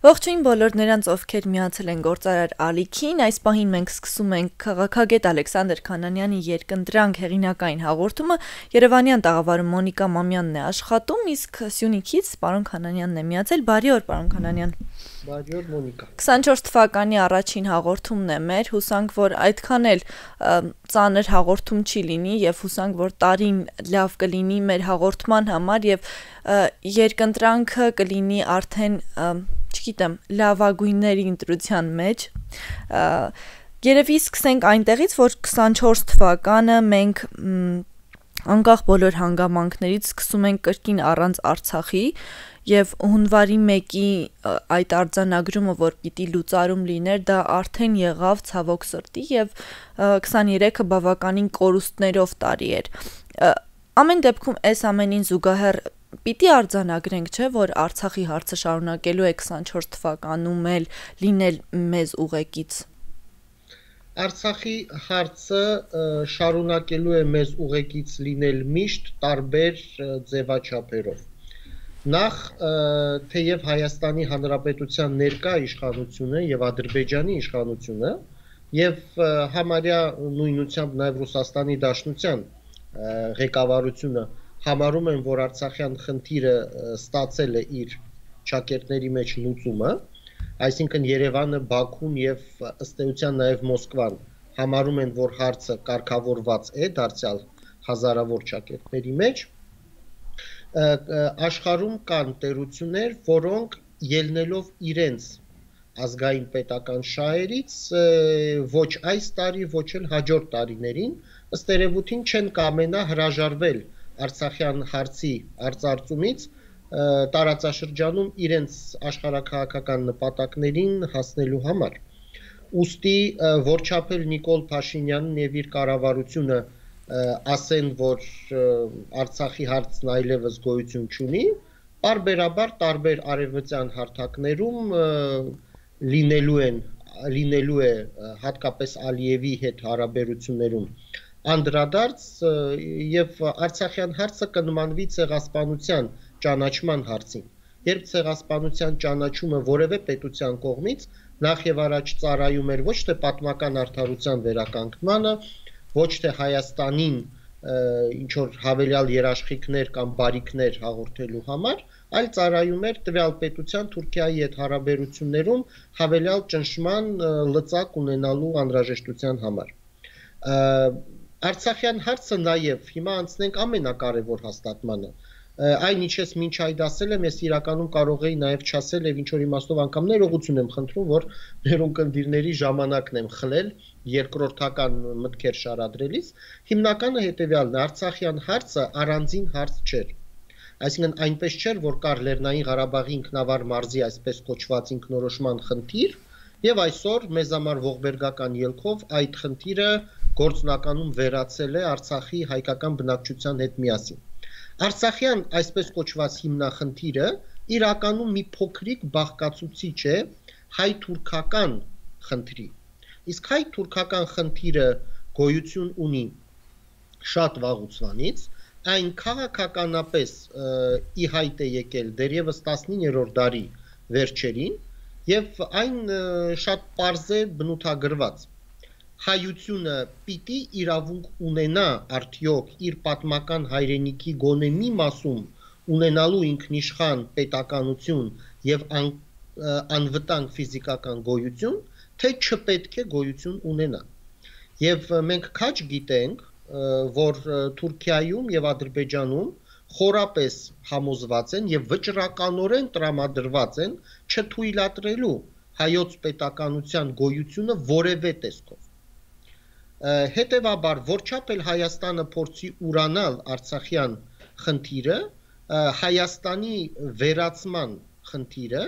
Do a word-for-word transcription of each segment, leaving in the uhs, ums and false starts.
Ողջույն բոլոր նրանց, ովքեր միացել են Գործարար ալիքին, այս պահին մենք սկսում ենք քաղաքագետ Ալեքսանդր Քանանյանի երկընտրանք հեղինակային հաղորդումը, Երևանյան տաղավարում Մոնիկա Մամյանն է աշխատում, իսկ Սյունիքից պարոն Քանանյանն է միացել, բարի օր պարոն Քանանյան։ Բարի օր Մոնիկա։ քսանչորս թվականի առաջին հաղորդումն է մեր, հուսանք, որ այդքան էլ ծանր հաղորդում չի լինի եւ հուսանք, որ տարին լավ կլինի մեր հաղորդման համար եւ երկընտրանքը կլինի արդեն չգիտեմ, լավագույնների ընտրության մեջ։ Երևի սկսենք այնտեղից, որ քսանչորս թվականը մենք անկախ բոլոր հանգամանքներից սկսում ենք կրկին առանց Արցախի եւ հունվարի մեկի այդ արձանագրումը, որ պիտի լուծարում լիներ, դա արդեն եղավ ցավոք սրտի եւ քսաներեքը բավականին կորուստներով տարի էր։ Ամեն դեպքում այս ամենին զուգահեռ պիտի արձանագրենք, չէ, որ Արցախի հարցը շարունակելու է քսանչորս թվականում էլ լինել մեզ ուղեկից։ Արցախի հարցը շարունակելու է մեզ ուղեկից լինել միշտ տարբեր ձևաչափերով։ Նախ թեև Հայաստանի Հանրապետության ներկա իշխանությունը եւ Ադրբեջանի իշխանությունը եւ համարյա նույնությամբ նաեւ Ռուսաստանի Դաշնության ղեկավարությունը համարում են, որ Արցախյան խնդիրը ստացել է իր ճակերտների մեջ լուծումը, այսինքն Երևանը, Բաքուն եւ ըստ էության նաեւ Մոսկվան համարում են, որ հարցը կարգավորված է դարձյալ հազարավոր ճակերտների մեջ, աշխարհում կան տերություններ, որոնք ելնելով իրենց ազգային պետական շահերից ոչ այս տարի, ոչ էլ հաջորդ տարիներին ըստ երևույթին չեն կամենա հրաժարվել Արցախյան հարցի արծարծումից տարածաշրջանում իրենց աշխարհաքաղաքական նպատակներին հասնելու համար։ Ուստի որչափ էլ Նիկոլ Փաշինյանն եւ իր կառավարությունը ասեն, որ Արցախի հարցն այլևս գոյություն չունի, բարբերաբար տարբեր արևմտյան հարթակներում լինելու են լինելու է հատկապես Ալիևի հետ հարաբերություններում անդրադարձ եւ Արցախյան հարցը կնմանվի ցեղասպանության ճանաչման հարցին։ Երբ ցեղասպանության ճանաչումը որևէ պետության կողմից նախ եւ առաջ ծառայում էր ոչ թե պատմական արդարության վերականգնմանը, ոչ թե Հայաստանին ինչ որ հավելյալ երաշխիքներ կամ բարիքներ հաղորդելու համար, այլ ծառայում էր տվյալ պետության Թուրքիայի հետ հարաբերություններում հավելյալ ճնշման լծակ ունենալու անհրաժեշտության համար։ Արցախյան հարցը նաև հիմա անցնենք ամենակարևոր հաստատմանը։ Այն ինչ ես մինչ այդ ասել եմ, ես իրականում կարող էի նաև չասել եւ ինչ որ իմաստով անգամ ներողություն եմ խնդրում, որ մեր ունկնդիրների ժամանակն եմ խլել երկրորդական մտքեր շարադրելիս։ Հիմնականը հետեւյալն է, Արցախյան հարցը առանձին հարց չէր։ Այսինքն այնպես չէր, որ կար Լեռնային Ղարաբաղի ինքնավար մարզի այսպես կոչված ինքնորոշման խնդիր, եւ այսօր մեզ համար ողբերգական ելքով այդ խնդիրը գործնականում վերացել է Արցախի հայկական բնակչության հետ միասին։ Արցախյան այսպես կոչված հիմնախնդիրը իրականում մի փոքրիկ բաղկացուցիչ է հայ-թուրքական խնդրի։ Իսկ հայ-թուրքական խնդիրը գոյություն ունի շատ վաղուց, այն քաղաքականապես ի հայտ է եկել դեռևս տասնիններորդ դարի վերջերին եւ այն շատ պարզ է բնութագրված։ Հայությունը պիտի իրավունք ունենա արդյոք իր պատմական հայրենիքի գոնե մի մասում ունենալու ինքնիշխան պետականություն եւ ան, անվտանգ ֆիզիկական գոյություն, թե չպետք է գոյություն ունենա։ Եւ մենք քաջ գիտենք, որ Թուրքիայում եւ Ադրբեջանում խորապես համոզված են եւ վճռականորեն տրամադրված են չթույլատրելու հայոց պետականության գոյությունը որևէ տեսքով։ Հետևաբար, որչափ էլ Հայաստանը փորձի ուրանալ Արցախյան խնդիրը, Հայաստանի վերացման խնդիրը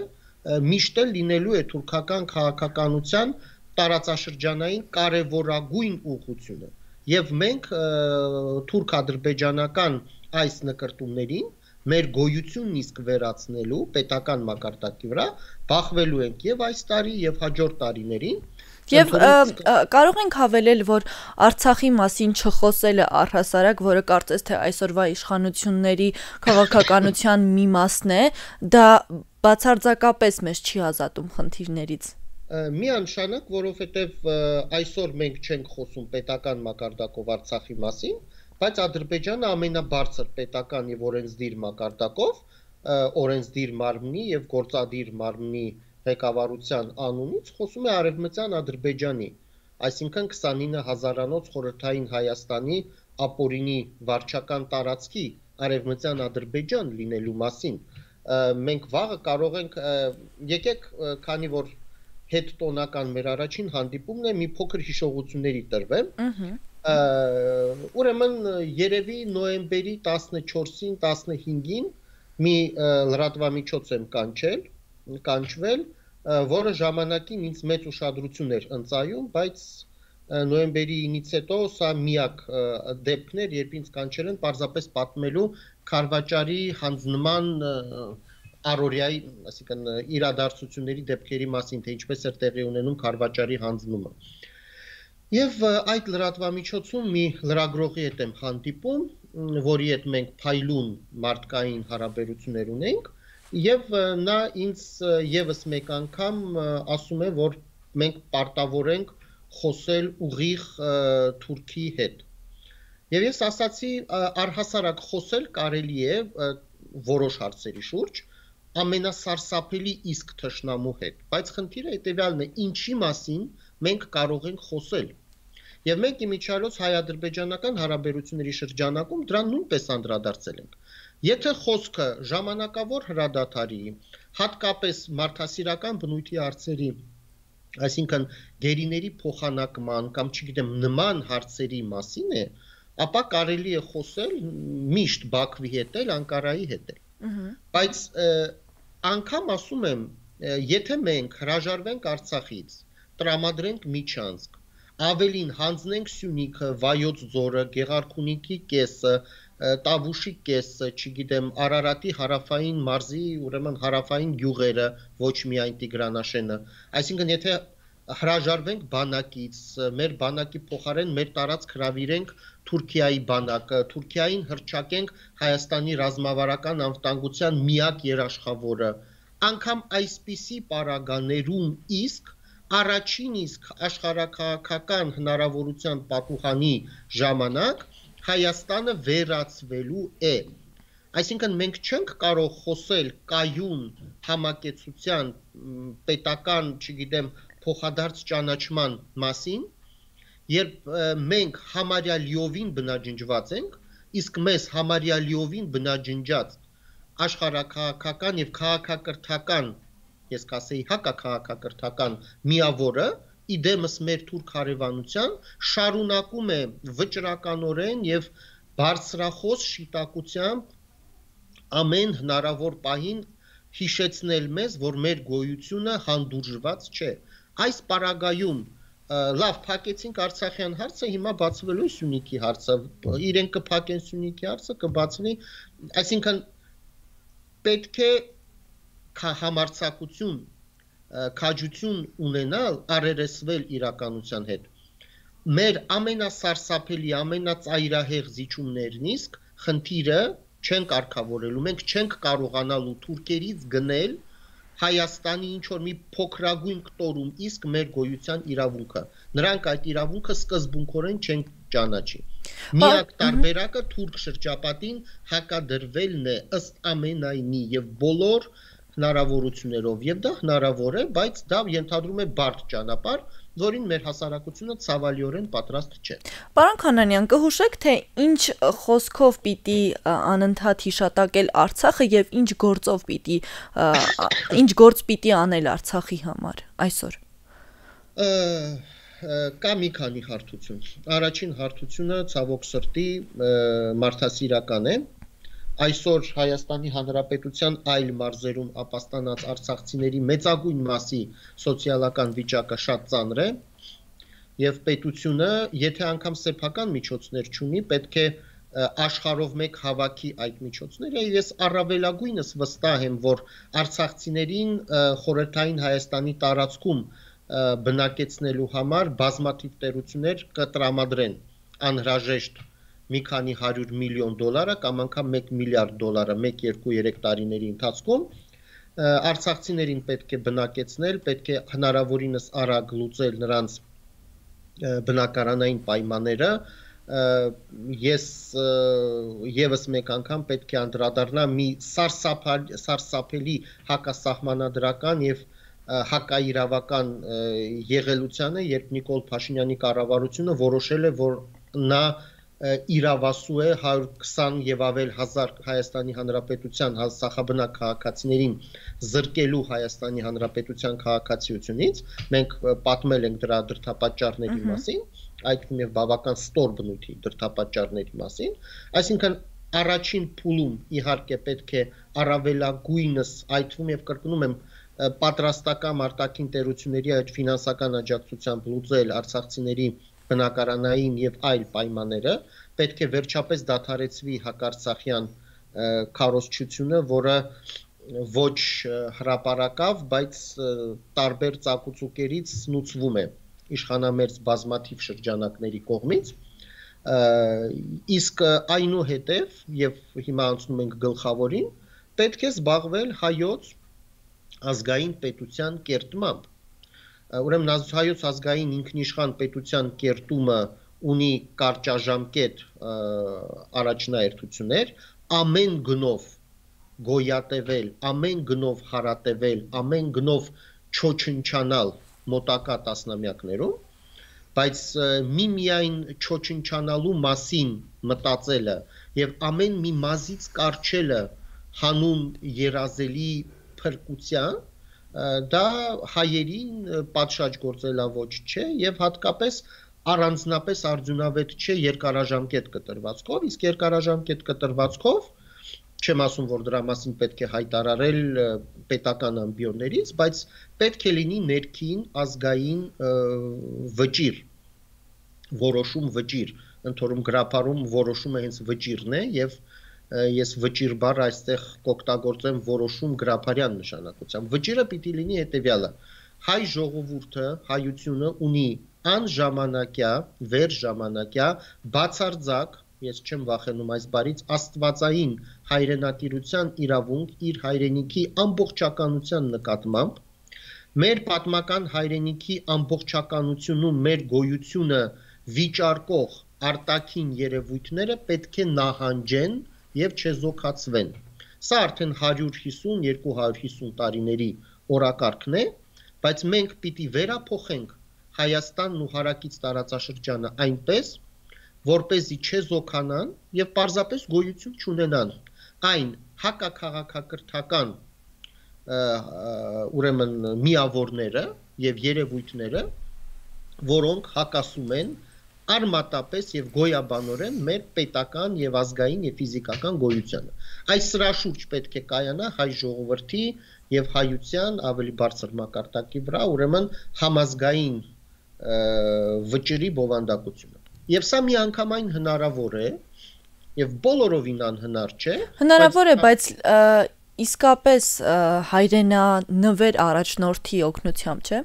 միշտ էլ լինելու է թուրքական քաղաքականության տարածաշրջանային կարևորագույն ուղղությունը։ Եվ մենք թուրք-ադրբեջանական այս նկարտումներին մեր գոյությունն իսկ վերացնելու պետական մակարդակի վրա բախվելու ենք եւ այս տարի եւ հաջորդ տարիներին Եվ կարող ենք հավելել, որ Արցախի մասին չխոսելը առհասարակ, որը կարծես թե այսօրվա իշխանությունների քաղաքականության մի մասն է, դա բացարձակապես մեզ չի ազատում խնդիրներից։ Միանշանակ, որովհետև այսօր մենք չենք խոսում պետական մակարդակով Արցախի մասին, բայց Ադրբեջանը ամենաբարձր պետական եւ օրենսդիր մակարդակով, օրենսդիր մարմնի եւ գործադիր մարմնի ղեկավարության անունից խոսում է Արևմտյան Ադրբեջանի, այսինքն քսանինը հազարանոց խորհրդային Հայաստանի ապօրինի վարչական տարածքի Արևմտյան Ադրբեջան լինելու մասին։ Մենք վաղը կարող ենք, եկեք, քանի որ հետ տոնական մեր առաջին հանդիպումն է, մի փոքր հիշողությունների տրվեմ։ Ուրեմն երևի նոյեմբերի տասնչորսին, տասնհինգին մի լրատվամիջոց եմ կանչել, կանչվել, որը ժամանակին ինձ մեծ ուշադրություն էր ընծայում, բայց նոյեմբերի ինից հետո սա միակ դեպքն էր, երբ ինձ կանչել են պարզապես պատմելու Քարվաճարի հանձնման առօրյայի, այսինքն իրադարձությունների դեպքերի մասին, թե ինչպես էր տեղի ունենում Քարվաճարի հանձնումը։ Եվ այդ լրատվամիջոցում մի լրագրողի հետ եմ հանդիպում, որի հետ մենք փայլուն մարդկային հարաբերություններ ունենք, եւ նա ինձ եւս մեկ անգամ ասում է, որ մենք պարտավոր ենք խոսել ուղիղ Թուրքի հետ։ Եվ ես ասացի, առհասարակ խոսել կարելի է որոշ հարցերի շուրջ, ամենասարսափելի իսկ թշնամու հետ, բայց խնդիրը հետևյալն է, ինչի մասին մենք կարող ենք խոսել։ Եվ մենք իմիջիայլոց հայ-ադրբեջանական հարաբերությունների շրջանակում դրան նույնպես անդրադարձել ենք։ Եթե խոսքը ժամանակավոր հրադադարի, հատկապես մարդասիրական բնույթի հարցերի, այսինքն գերիների փոխանակման կամ չգիտեմ նման հարցերի մասին է, ապա կարելի է խոսել միշտ Բաքվի հետ էլ, Անկարայի հետ էլ։ Բայց անգամ ասում եմ, եթե մենք հրաժարվենք Արցախից, տրամադրենք Միչանսկ, ավելին հանձնենք Սյունիքը, Վայոց ձորը, Գեղարքունիքի կեսը, Տավուշի կեսը, չգիտեմ, Արարատի հարավային մարզի, ուրեմն հարավային գյուղերը, ոչ միայն Տիգրանաշենը, այսինքն եթե հրաժարվենք բանակից, մեր բանակի փոխարեն մեր տարածք հրավիրենք Թուրքիայի բանակը, Թուրքիային հռչակենք Հայաստանի ռազմավարական անվտանգության միակ երաշխավորը, անգամ այսպիսի պարագաներում իսկ առաջին իսկ աշխարհաքաղաքական հնարավորության պատուհանի ժամանակ Հայաստանը վերածվելու է։ Այսինքն մենք չենք կարող խոսել կայուն համակեցության պետական, չգիտեմ, փոխադարձ ճանաչման մասին, երբ մենք համարյա լիովին բնաջնջված ենք, իսկ մեզ համարյա լիովին բնաջնջած աշխարհաքաղաքական եւ քաղաքակրթական, ես կասեի հակաքաղաքակրթական միավորը իդեմս մեր թուրք հարևանության շարունակում է վճռականորեն եւ բարձրախոս շիտակությամբ ամեն հնարավոր պահին հիշեցնել մեզ, որ մեր գոյությունը հանդուրժված չէ։ Այս պարագայում լավ փակեցինք Արցախյան հարցը, հիմա բացվելու է Սյունիքի հարցը, իրենք կփակեն Սյունիքի հարցը, կբացվի, այսինքն պետք է համարձակություն, քաջություն ունենալ, առերեսվել իրականության հետ։ Մեր ամենասարսափելի, ամենածայրահեղ զիջումներն իսկ խնդիրը չենք արկավորելու, մենք չենք կարողանալու թուրքերից գնել Հայաստանի ինչ-որ մի փոքրագույն կտորում իսկ մեր գոյության իրավունքը։ Նրանք այդ իրավունքը սկզբունքորեն չեն ճանաչի։ Միակ տարբերակը թուրք շրջապատին հակադրվելն է ըստ ամենայնի եւ բոլոր հնարավորություններով, եւ դա հնարավոր է, բայց դա ենթադրում է բարդ ճանապարհ, որին մեր հասարակությունը ցավալիորեն պատրաստ չէ։ Պարոն Քանանյան, կհուշեք, թե ինչ խոսքով պիտի անընդհատ հիշատակել Արցախը եւ ինչ գործով պիտի ինչ գործ պիտի անել Արցախի համար այսօր։ Կա մի քանի հարթություն։ Առաջին հարթությունը ցավոք սրտի մարդասիրական է։ Այսօր Հայաստանի Հանրապետության այլ մարզերում ապաստանած արցախցիների մեծագույն մասի սոցիալական վիճակը շատ ծանր է եւ պետությունը, եթե անգամ սեփական միջոցներ չունի, պետք է աշխարհով մեկ հավաքի այդ միջոցները։ Ես առավելագույնս վստահ եմ, որ արցախցիներին խորհրդային Հայաստանի տարածքում բնակեցնելու համար բազմաթիվ տերություններ կտրամադրեն անհրաժեշտ մի քանի հարյուր միլիոն դոլարը կամ անգամ մեկ միլիարդ դոլարը մեկ, երկու, երեք տարիների ընթացքում արցախցիներին պետք է բնակեցնել, պետք է հնարավորինս արագ լուծել նրանց բնակարանային պայմանները ես եւս մեկ անգամ պետք է անդրադառնամ մի սարսափելի հակասահմանադրական եւ հակաիրավական եղելությանը, երբ Նիկոլ Փաշինյանի կառավարությունը որոշել է, որ նա իրավասու է հարյուր քսան եւ ավել հազար Հայաստանի Հանրապետության սախաբնակ քաղաքացիներին զրկելու Հայաստանի Հանրապետության քաղաքացիությունից, մենք պատմել ենք դրա դրդապատճառների մասին, այդ թվում եւ բավական ստոր բնույթի դրդապատճառների մասին, այսինքն առաջին փուլում իհարկե պետք է առավելագույնս այդ թվում եւ կրկնում եմ պատրաստական արտաքին տերությունների այդ ֆինանսական աջակցությամբ լուծել արցախցիների բնակարանային եւ այլ պայմանները, պետք է վերջապես դադարեցվի հակարցախյան քարոզչությունը, որը ոչ հրապարակավ, բայց տարբեր ծակուցուկերից սնուցվում է իշխանամերձ բազմաթիվ շրջանակների կողմից, իսկ այնուհետև եւ հիմա անցնում ենք գլխավորին, պետք է զբաղվել հայոց ազգային պետության կերտմամբ։ Ուրեմն հայոց ազգային ինքնիշխան պետության կերտումը ունի կարճաժամկետ առաջնահերթություններ, ամեն գնով գոյատևել, ամեն գնով հարատևել, ամեն գնով չոչնչանալ մոտակա տասնամյակներում, բայց միմիայն չոչնչանալու մասին մտածելը եւ ամեն մի մազից կարճելը հանուն երազելի փրկության դա հայերին պատշաճ գործելավոճ չէ եւ հատկապես առանձնապես արդյունավետ չէ երկարաժամկետ կտրվածքով, իսկ երկարաժամկետ կտրվածքով չեմ ասում, որ դրա մասին պետք է հայտարարել պետական ամբիոններից, բայց պետք է լինի ներքին ազգային վճիր, որոշում վճիր, ընդհանրում գրապարում որոշումը հենց վճիրն է եւ ես վճիր բառը այստեղ կօգտագործեմ որոշում գրապարյան նշանակությամբ։ Վճիրը պիտի լինի հետեւյալը. հայ ժողովուրդը, հայությունը ունի անժամանակյա, վերժամանակյա, բացարձակ, ես չեմ վախենում այս բառից, աստվածային հայրենատիրության իրավունք իր հայրենիքի ամբողջականության նկատմամբ, մեր պատմական հայրենիքի ամբողջականությունում մեր գոյությունը վիճարկող արտաքին երևույթները պետք է նահանջեն եւ չեզոքացվեն։ Սա արդեն հարյուր հիսուն երկու հարյուր հիսուն տարիների օրակարգն է, բայց մենք պիտի վերափոխենք Հայաստանն ու հարակից տարածաշրջանը այնպես, որպեսզի չեզոքանան եւ պարզապես գոյություն չունենան այն հակաքաղաքակրթական ուրեմն միավորները եւ երևույթները, որոնք հակասում են արմատապես եւ գոյաբանորեն մեր պետական եւ ազգային եւ ֆիզիկական գոյությանը։ Այս սրա շուրջ պետք է կայանա հայ ժողովրդի եւ հայության ավելի բարձր մակարդակի վրա, ուրեմն համազգային վճռի բովանդակությունը։ Եվ սա միանգամայն հնարավոր է եւ բոլորովին անհնար չէ։ Հնարավոր է, բայց իսկապես հայրենանվեր առաջնորդի օգնությամբ, չէ՞։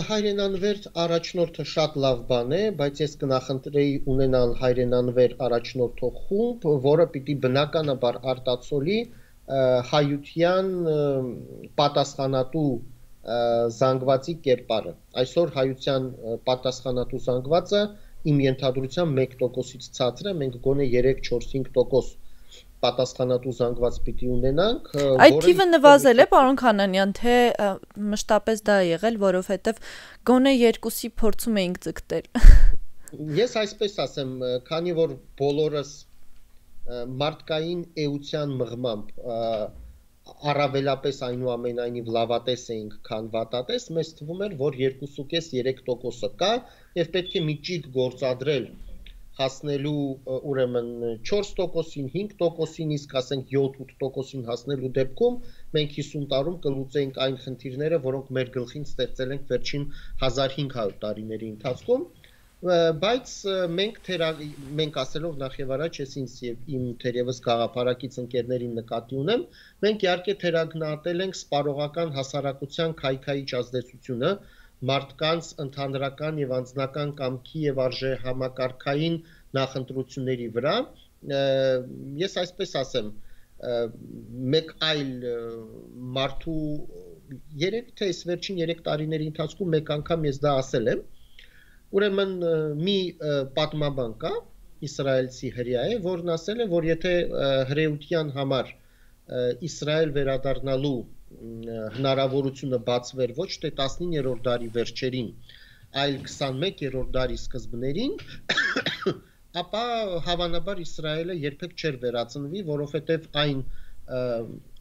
Հայրենանվեր առաջնորդը շատ լավ բան է, բայց ես կնախընտրեի ունենալ հայրենանվեր առաջնորդող խումբ, որը պիտի բնականաբար արտացոլի հայության պատասխանատու զանգվածի կերպարը։ Այսօր հայության պատասխանատու զանգվածը իմ ենթադրությամբ մեկ տոկոսից ցածր է, մենք գոնե երեք, չորս, հինգ տոկոս պատասխանատու զանգված պիտի ունենանք։ Այդ թիվը նվազել է, պարոն Քանանյան, թե մշտապես դա է եղել, որովհետև գոնե երկուսի փորձում էինք ձգտել։ Ես այսպես ասեմ, քանի որ բոլորս մարդկային էության մղմամբ առավելապես այնուամենայնիվ լավատես էինք, քան վատատես, մեզ թվում էր, որ երկուսուկես երեք տոկոսը կա եւ պետք է մի ճիգ գործադրել հասնելու ուրեմն չորս տոկոսին, հինգ տոկոսին, իսկ ասենք յոթ-ութ տոկոսին հասնելու դեպքում մենք հիսուն տարում կլուծեինք այն խնդիրները, որոնք մեր գլխին ստեղծել ենք վերջին հազար հինգ հարյուր տարիների ընթացքում։ Բայց մենք մենք ասելով նախ եւ առաջ ես ինձ եւ իմ թերևս գաղափարակից ընկերներին նկատի ունեմ, մենք իհարկե թերագնահատել ենք սպառողական հասարակության քայքայիչ ազդեցությունը մարդկանց ընդհանրական եւ անձնական կամքի եւ արժեհամակարգային նախընտրությունների վրա։ Ես այսպես ասեմ, մեկ այլ մարդու երևի թե այս վերջին երեք տարիների ընթացքում մեկ անգամ ես դա ասել եմ։ Ուրեմն մի պատմաբան կա, իսրայելցի հրյա է, որն ասել է, որ եթե հրեության համար Իսրայել վերադառնալու հնարավորությունը բացվեր ոչ թե տասնիններորդ դարի վերջերին, այլ քսանմեկերորդ դարի սկզբներին, ապա հավանաբար Իսրայելը երբեք չէր վերածնվի, որովհետև այն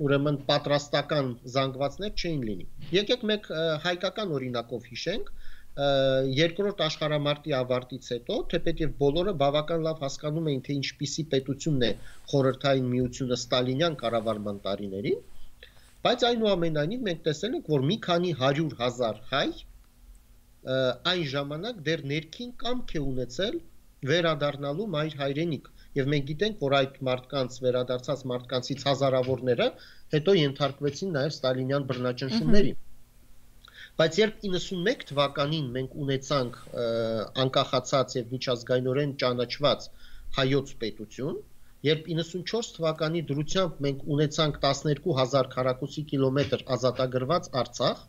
ուրեմն պատրաստական զանգվածներ չէին լինի։ Եկեք մեկ հայկական օրինակով հիշենք, Երկրորդ աշխարհամարտի ավարտից հետո, թեպետև բոլորը բավական լավ հասկանում էին, թե ինչպիսի պետությունն է խորհրդային միությունը ստալինյան կառավարման տարիներին, բայց այնուամենայնիվ մենք տեսել ենք, որ մի քանի հարյուր հազար հայ այն ժամանակ դեռ ներքին կամք է ունեցել վերադառնալու մայր հայրենիք, եւ մենք գիտենք, որ այդ մարդկանց վերադարձած մարդկանցից հազարավորները հետո ենթարկվեցին նաեւ ստալինյան բռնաճնշումների։ Բայց երբ իննսունմեկ թվականին մենք ունեցանք անկախացած եւ միջազգայինորեն ճանաչված հայոց պետություն, երբ իննսունչորս թվականի դրությամբ մենք ունեցանք տասներկու հազար քառակուսի կիլոմետր ազատագրված Արցախ,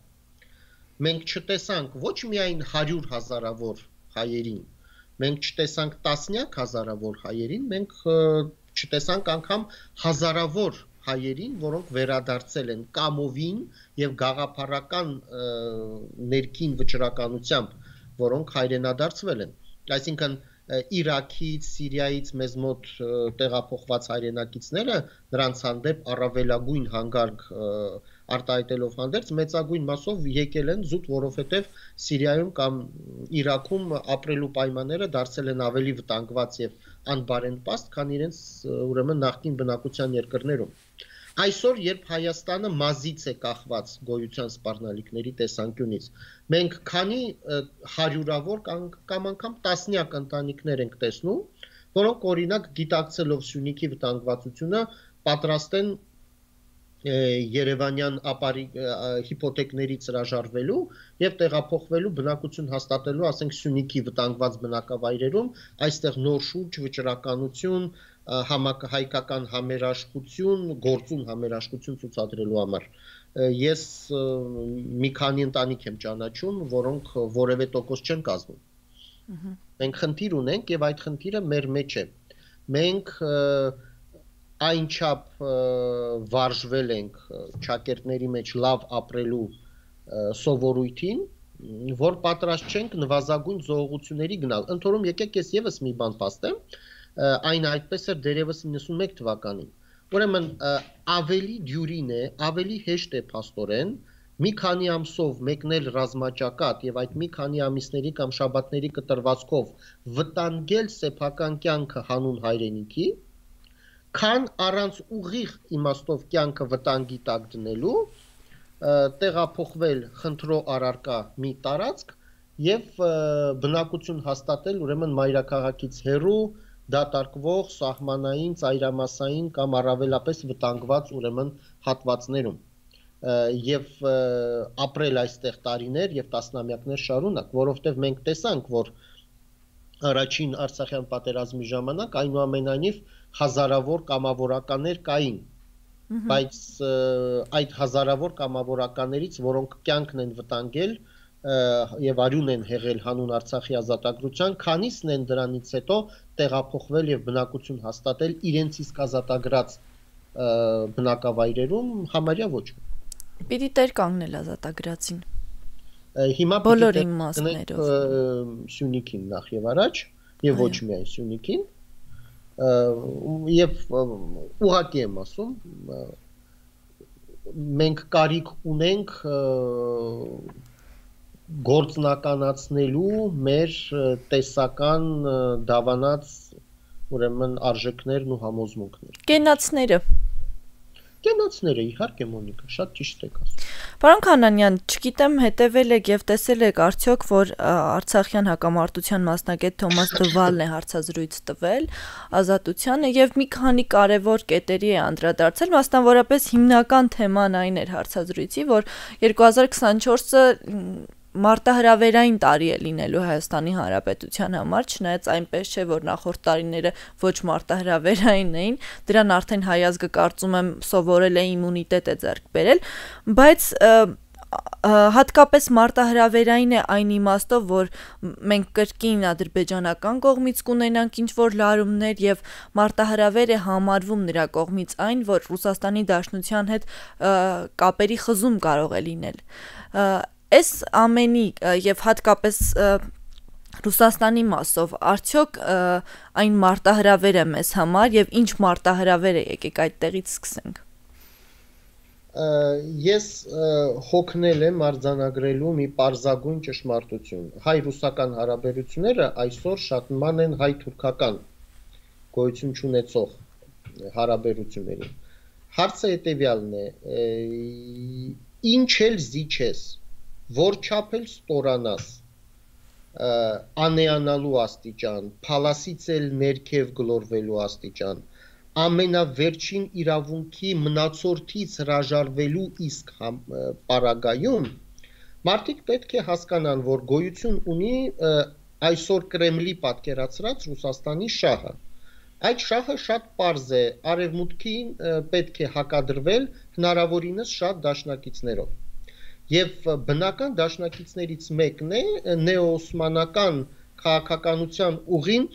մենք չտեսանք ոչ միայն հարյուր հազարավոր հայերին, մենք չտեսանք տասնյակ հազարավոր հայերին, մենք չտեսանք անգամ հազարավոր հայերին, որոնք վերադարձել են կամովին եւ գաղափարական ներքին վճռականությամբ, որոնք հայրենադարձվել են։ Այսինքն Իրաքից, Սիրիայից մեզ մոտ տեղափոխված հայրենակիցները նրանց հանդեպ առավելագույն հանգարք արտահայտելով հանդերձ մեծագույն մասով եկել են զուտ, որովհետեւ Սիրիայում կամ Իրաքում ապրելու պայմանները դարձել են ավելի վտանգված եւ անբարենպաստ, քան իրենց ուրեմն նախկին բնակության երկրներում։ Այսօր, երբ Հայաստանը մազից է կախված գոյության սպառնալիքների տեսանկյունից, մենք քանի հարյուրավոր կամ անգամ տասնյակ ընտանիքներ ենք տեսնում, որոնք օրինակ գիտակցելով Սյունիքի վտանգվածությունը պատրաստ են Երևանյան հիփոթեքներից հրաժարվելու եւ տեղափոխվելու բնակություն հաստատելու, ասենք Սյունիքի վտանգված բնակավայրերում, այստեղ նոր շուրջ, վճռականություն, համահայկական համերաշխություն, գործուն համերաշխություն ցուցադրելու համար։ Ես մի քանի ընտանիք եմ ճանաչում, որոնք որևէ տոկոս չեն կազմում։ Մենք խնդիր ունենք եւ այդ խնդիրը մեր մեջ է։ Մենք այնչափ վարժվել ենք ճակերտների մեջ լավ ապրելու սովորույթին, որ պատրաստ չենք նվազագույն զողողությունների գնալ։ Ընթորում եկեք ես եւս մի բան փաստեմ, այն այդպես էր դերևս իննսունմեկ թվականին։ Ուրեմն ավելի դյուրին է, ավելի հեշտ է փաստորեն մի քանի ամսով մեկնել ռազմաճակատ եւ այդ մի քանի ամիսների կամ շաբաթների կտրվածքով վտանգել սեփական կյանքը հանուն հայրենիքի, քան առանց ուղիղ իմաստով կյանքը վտանգի տակ դնելու տեղափոխվել խնդրո առարկա մի տարածք եւ բնակություն հաստատել ուրեմն մայրաքաղաքից հեռու դատարկվող սահմանային, ծայրամասային կամ առավելապես վտանգված ուրեմն հատվածներում եւ ապրել այստեղ տարիներ եւ տասնամյակներ շարունակ, որովհետեւ մենք տեսանք, որ առաջին Արցախյան պատերազմի ժամանակ այնուամենայնիվ հազարավոր կամավորականներ կային, բայց այդ հազարավոր կամավորականներից, որոնք կյանքն են վտանգել եւ արյուն են հեղել հանուն Արցախի ազատագրության, քանիսն են դրանից հետո տեղափոխվել եւ բնակություն հաստատել իրենց իսկ ազատագրած բնակավայրերում, համարյա ոչ։ Պիտի տեր կանգնել ազատագրածին։ Հիմա բոլոր իմաստներով Սյունիքին նախ եւ առաջ եւ ոչ միայն Սյունիքին եւ ուղղակի եմ ասում մենք կարիք ունենք գործնականացնելու մեր տեսական դավանած ուրեմն արժեքներն ու համոզմունքներ։ Կենացները Կենացները իհարկե Մոնիկա, շատ ճիշտ եք ասում։ Պարոն Քանանյան, չգիտեմ հետևել եք եւ տեսել եք արդյոք, որ Արցախյան հակամարտության մասնագետ Թոմաս Դվալն է հարցազրույց տվել Ազատությանը եւ մի քանի կարեւոր կետերի է անդրադարձել, մասնավորապես հիմնական թեման այն էր հարցազրույցի, որ երկու հազար քսանչորսը մարտահրավերային տարի է լինելու Հայաստանի Հանրապետության համար, չնայած այնպես չէ, որ նախորդ տարիները ոչ մարտահրավերային էին, դրան արդեն հայ ազգը կարծում եմ սովորել է իմունիտետ է ձեռք բերել, բայց հատկապես մարտահրավերային է այն իմաստով, որ մենք կրկին ադրբեջանական կողմից կունենանք ինչ-որ լարումներ եւ մարտահրավեր է համարվում նրա կողմից այն, որ Ռուսաստանի Դաշնության հետ կապերի խզում կարող է լինել։ Այս ամենի եւ հատկապես Ռուսաստանի մասով արդյոք այն մարտահրավեր է մեզ համար եւ ինչ մարտահրավեր է, եկեք այդտեղից սկսենք։ Ես հոգնել եմ արձանագրելու մի պարզագույն ճշմարտություն։ Հայ-ռուսական հարաբերությունները այսօր շատ ման են հայ-թուրքական գոյություն չունեցող հարաբերություններին։ Հարցը հետեւյալն է. ինչ էլ զիջես, որ չափ էլ ստորանաս, անեանալու աստիճան, փալասից էլ ներքև գլորվելու աստիճան, ամենավերջին իրավունքի մնացորդից հրաժարվելու իսկ պարագայում, մարդիկ պետք է հասկանան, որ գոյություն ունի այսօր Կրեմլի պատկերացրած Ռուսաստանի շահը։ Այդ շահը շատ պարզ է, արևմուտքին պետք է հակադրվել հնարավորինս շատ դաշնակիցներով։ Եվ բնական դաշնակիցներից մեկն է նեոօսմանական քաղաքականության ուղին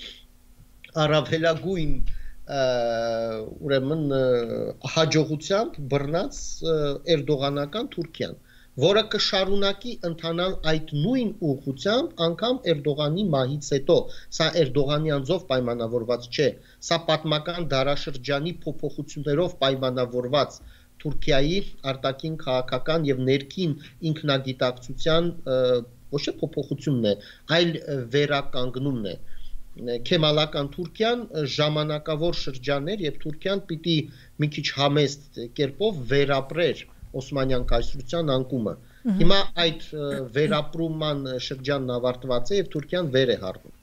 առավելագույն ուրեմն հաջողությամբ բռնած էրդողանական Թուրքիան, որը կշարունակի ընթանալ այդ նույն ուղղությամբ անգամ Էրդողանի մահից հետո։ Սա Էրդողանի անձով պայմանավորված չէ, սա պատմական դարաշրջանի փոփոխություններով պայմանավորված Թուրքիայի արտաքին քաղաքական եւ ներքին ինքնագիտակցության ոչ թե փոփոխությունն է, այլ վերականգնումն է։ Քեմալական Թուրքիան ժամանակավոր շրջաններ եւ Թուրքիան պիտի մի քիչ համեստ կերպով վերապրեր Օսմանյան կայսրության անկումը։ Հիմա այդ վերապրման շրջանն ավարտված է եւ Թուրքիան վեր է հառնում։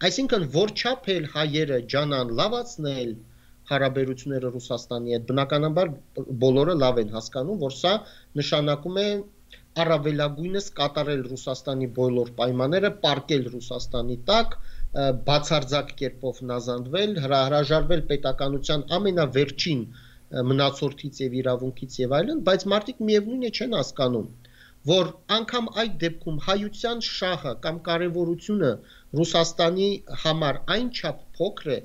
Այսինքն որչափ էլ հայերը ջանան լավացնել հարաբերությունները Ռուսաստանի հետ, բնականաբար բոլորը լավ են հասկանում, որ սա նշանակում է առավելագույնս կատարել Ռուսաստանի բոլոր պայմանները, պարկել Ռուսաստանի տակ, բացարձակ կերպով նազանդվել, հրաժարվել պետականության ամենավերջին մնացորդից եւ իրավունքից եւ այլն, բայց մարդիկ միևնույն է չեն հասկանում, որ անկամ այդ դեպքում հայության շահը կամ կարևորությունը Ռուսաստանի համար այնչափ փոքր է,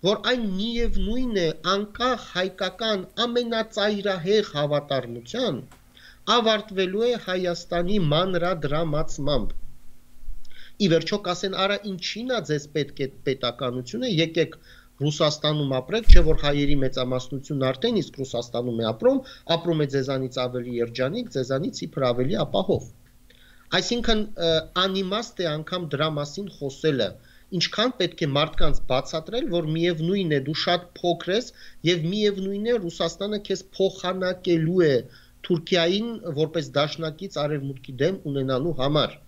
որ այն միևնույն է անկախ հայկական ամենածայրահեղ հավատարմության ավարտվելու է Հայաստանի մանրադրամացմամբ։ Ի վերջո կասեն, արա ինչին է ձեզ պետք է պետականությունը, եկեք Ռուսաստանում ապրեք, չէ որ հայերի մեծամասնությունն արդեն իսկ Ռուսաստանում է ապրում, ապրում է ձեզանից ավելի երջանիկ, ձեզանից իբր ավելի ապահով։ Այսինքն անիմաստ է անգամ դրա մասին խոսելը, ինչքան պետք է մարդկանց բացատրել, որ միևնույն է դու շատ փոքր ես եւ միևնույն է Ռուսաստանը քեզ փոխանակելու է Թուրքիային որպես դաշնակից արևմուտքի դեմ ունենալու համար։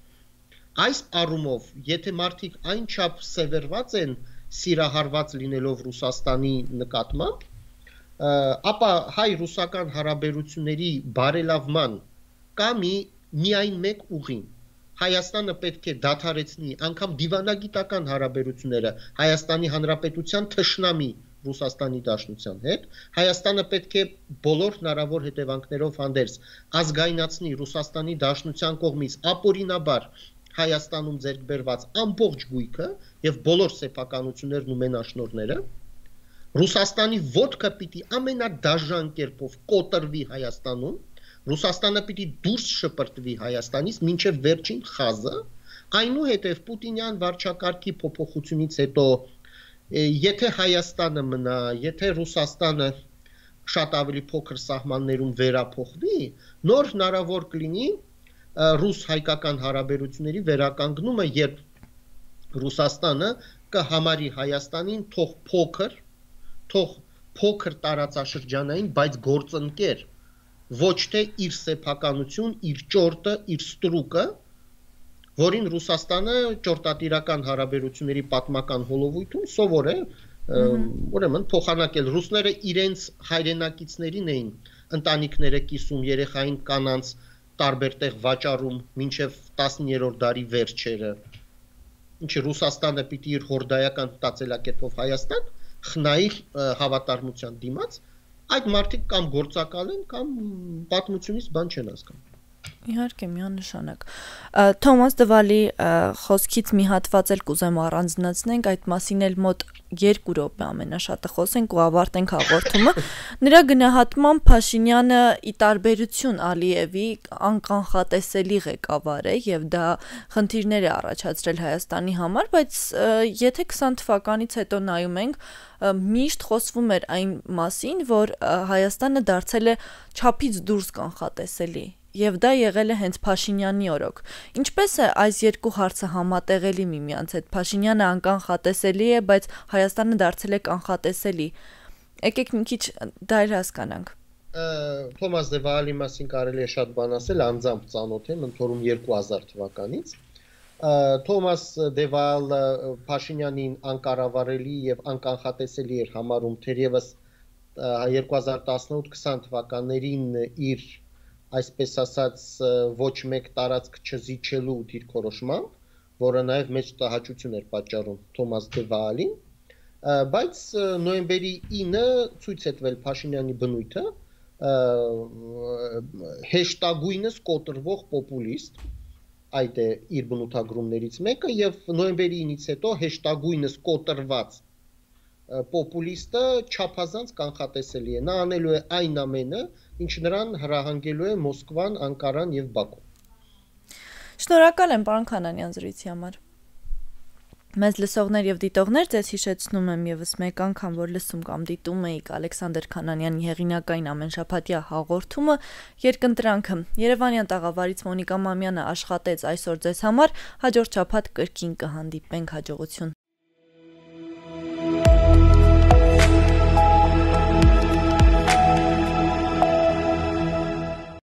Այս առումով, եթե մարդիկ այնչափ սևեռված են սիրահարված լինելով Ռուսաստանի նկատմամբ, ապա հայ-ռուսական հարաբերությունների բարելավման կա մի միայն մեկ ուղին։ Հայաստանը պետք է դադարեցնի անգամ դիվանագիտական հարաբերությունները Հայաստանի Հանրապետության թշնամի Ռուսաստանի Դաշնության հետ, Հայաստանը պետք է բոլոր հնարավոր հետևանքներով հանդերձ ազգայնացնի Ռուսաստանի Դաշնության կողմից ապօրինաբար Հայաստանում ձեռք բերված ամբողջ գույքը եւ բոլոր սեփականություններն ու մենաշնորհները, Ռուսաստանի ոտքը պիտի ամենադաժան կերպով կոտրվի Հայաստանում, Ռուսաստանը պիտի դուրս շպրտվի Հայաստանից մինչև վերջին խազը, այնուհետև Պուտինյան վարչակարգի փոփոխությունից հետո, եթե Հայաստանը մնա, եթե Ռուսաստանը շատ ավելի փոքր սահմաններում վերափոխվի, նոր հնարավոր կլինի ռուս-հայկական հարաբերությունների վերականգնումը, երբ Ռուսաստանը կհամարի Հայաստանին թող փոքր, թող փոքր տարածաշրջանային, բայց գործընկեր, ոչ թե իր սեփականություն, իր ճորտը, իր ստրուկը, որին Ռուսաստանը ճորտատիրական հարաբերությունների պատմական հոլովույթում սովոր է, ուրեմն փոխանակել ռուսները իրենց հայրենակիցներին էին ընտանիքները կիսում, երեխային կանանց տարբեր տեղ վաճառում մինչև տասներորդ դարի վերջերը, ինչը Ռուսաստանը պիտի իր հորդայական մտածելակերպով Հայաստան խնայի հավատարմության դիմաց, այդ մարդիկ կամ գործակալ են, կամ պատմությունից բան չեն հասկանում։ Իհարկե, միանշանակ։ Թոմաս Դվալի խոսքից մի հատված էլ կուզեմ առանձնացնենք, այդ մասին էլ մոտ երկու րոպե ամենաշատը խոսենք ու ավարտենք հաղորդումը։ Նրա գնահատմամբ Փաշինյանը ի տարբերություն Ալիևի անկանխատեսելի ղեկավար է եւ դա խնդիրներ է առաջացրել Հայաստանի համար, բայց եթե քսան թվականից հետո նայում ենք, միշտ խոսվում էր այն մասին, որ Հայաստանը դարձել է չափից դուրս կանխատեսելի։ Եվ դա եղել է հենց Փաշինյանի օրոք։ Ինչպես է այս երկու հարցը համատեղելի միմյանց հետ։ Փաշինյանը անկանխատեսելի է, բայց Հայաստանը դարձել է կանխատեսելի։ Եկեք մի քիչ դա էլ հասկանանք։ Թոմաս Դևալի մասին կարելի է շատ բան ասել, անձամբ ծանոթ եմ, ընթորում երկու հազար թվականից։ Թոմաս Դևալը Փաշինյանին անկառավարելի եւ անկանխատեսելի էր համարում, թերևս երկու հազար տասնութ քսան թվականներին իր այսպես ասած ոչ մեկ տարածք չզիջելու դիրքորոշմամբ, որը նաև մեծ տհաճություն էր պատճառում Թոմաս Դևալին, բայց նոյեմբերի ինը ցույց է տվել Փաշինյանի բնույթը, հեշտագույնս կոտրվող պոպուլիստ, այդ է իր բնութագրումներից մեկը, եւ նոյեմբերի ինից հետո հեշտագույնս կոտրված պոպուլիստը չափազանց կանխատեսելի է, նա անելու է այն ամենը, ինչ նրան հրահանգելու է Մոսկվան, Անկարան եւ Բաքու։ Շնորհակալ եմ, պարոն Քանանյան, զրույցի համար։ Մեզ լսողներ եւ դիտողներ, ձեզ հիշեցնում եմ եւս մեկ անգամ, որ լսում կամ դիտում եք Ալեքսանդր Քանանյանի հեղինակային ամենշաբաթյա հաղորդումը Երկընտրանքը։ Երևանյան տաղավարից Մոնիկա Մամյանը աշխատեց այսօր ձեզ համար, հաջորդ շաբաթ կրկին կհանդիպենք, հաջողություն։